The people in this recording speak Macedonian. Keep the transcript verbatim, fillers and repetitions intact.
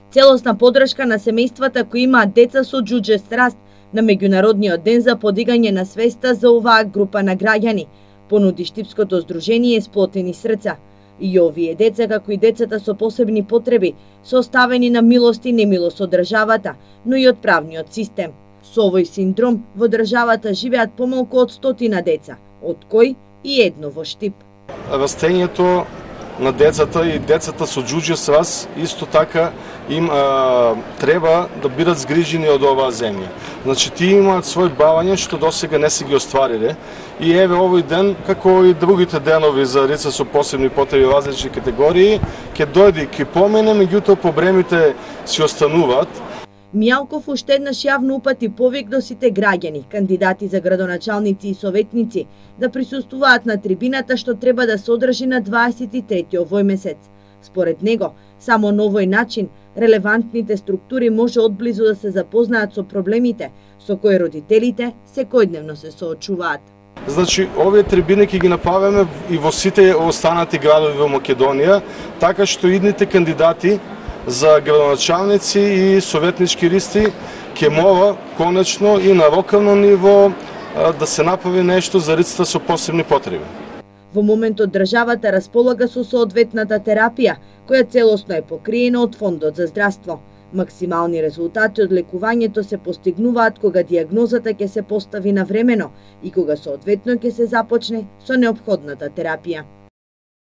Целосна поддршка на семејствата кои имаат деца со џуџест раст на меѓународниот ден за подигање на свеста за оваа група на граѓани, понуди Штипското здружение Сплотени срца. И овие деца, како и децата со посебни потреби, се оставени на милост и немилост од државата, но и од правниот систем. Со овој синдром во државата живеат помалку од стотина деца, од кои и едно во Штип. Растењето на децата и децата со џуџест раст исто така им а, треба да бидат згрижени од оваа земја. Значи, тие имаат свој бавање што досега не се ги оствариле и еве овој ден, како и другите денови за лица со посебни потреби во различни категории, ќе дојде и ќе помене, меѓутоа проблемите си остануваат. Мијалков уште еднаш јавно упати повик до сите граѓани, кандидати за градоначалници и советници, да присуствуваат на трибината што треба да се одржи на дваесет и трети овој месец. Според него, само на овој начин, релевантните структури може одблизу да се запознаат со проблемите со кои родителите секојдневно се соочуваат. Значи, овие трибини ќе ги направиме и во сите останати градови во Македонија, така што идните кандидати за градоначалници и советнички листи ќе мора конечно и на локално ниво да се направи нешто за лицата со посебни потреби. Во моментот државата располага со соодветната терапија, која целосно е покриена од Фондот за здравство. Максимални резултати од лекувањето се постигнуваат кога дијагнозата ќе се постави навремено и кога соодветно ќе се започне со неопходната терапија.